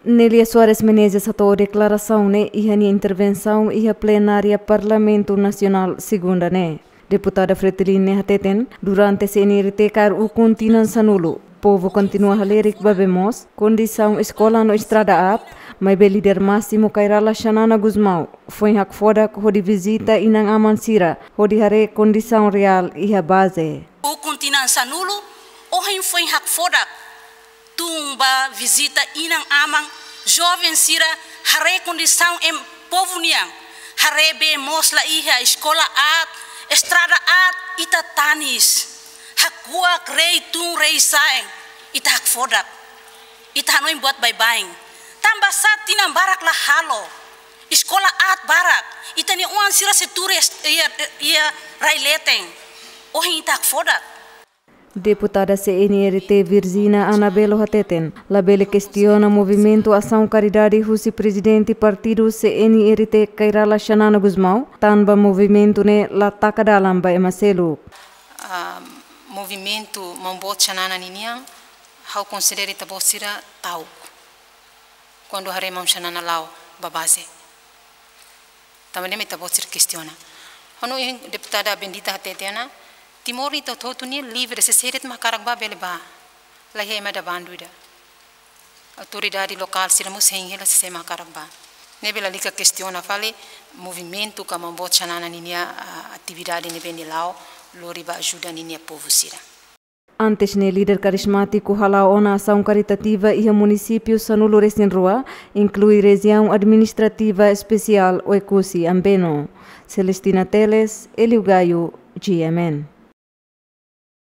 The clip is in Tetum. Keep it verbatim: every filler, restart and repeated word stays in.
Nelia Soares Menezes hato'o deklarasaun ne'e iha nia intervensaun iha plenária Parlamentu Nasionál segunda ne'e. Deputada Fretilin ne'e hateten, durante C N R T kaer ukun tinan sanulu, povu kontinua halerik ba bee moos, kondisaun eskola no estrada aat, maibé líder másimu Kay Rala Xanana Gusmão foin hakfodak hodi vizita inan-aman sira hodi haree kondisaun reál iha baze. Ukun tinan sanulu, ohin foin hakfodak tun ba vizita inan-aman, joven sira, haree kondisaun ema povu nian, haree bee moos la iha, eskola aat, estrada aat, ita tanis, hakuak rei tun rei sa'e, ita hakfodak, ita hanoin buat baibain. Tanba sá tinan barak la halo, eskola aat barak, ita-nia oan sira sei tuur iha, iha rai leten, ohin ita hakfodak. Deputada C N R T Virgina Anabelo hateten, labele kestiona movimentu asaun karidade husi prezidente partidu C N R T Kay Rala Xanana Gusmão, tanba movimentu ne'e la taka dalan ba ema seluk. Ah, movimentu maun boot Xanana ninian, ha'u konsidera ita-boot sira ta'uk. Kuandu haree maun Xanana la'o ba baze. Tanba ne'e mak ita-boot sira kestiona. Ha'u hanoin deputada Bendita hateten ona, Timor nia ita hotu-hotu ne'e livre, sé de'it mak hakarak bá bele bá. La iha ema da'et bandu ida. Autoridade lokál sira mós hein hela sé mak hakarak bá. Ne'ebé lalika kestiona fali movimentu ka maun boot Xanana ninia, ah, atividade ne'ebé nia la'o lori ba ajuda ninia povu sira. Antes ne'e líder karizmátiku hala'o ona asaun karitativa iha munisípiu sanulu-resin-rua, inklui Rejiaun Administrativa Espesiál Oekusi Ambeno. Celestina Teles, Elio Gaio, G M N.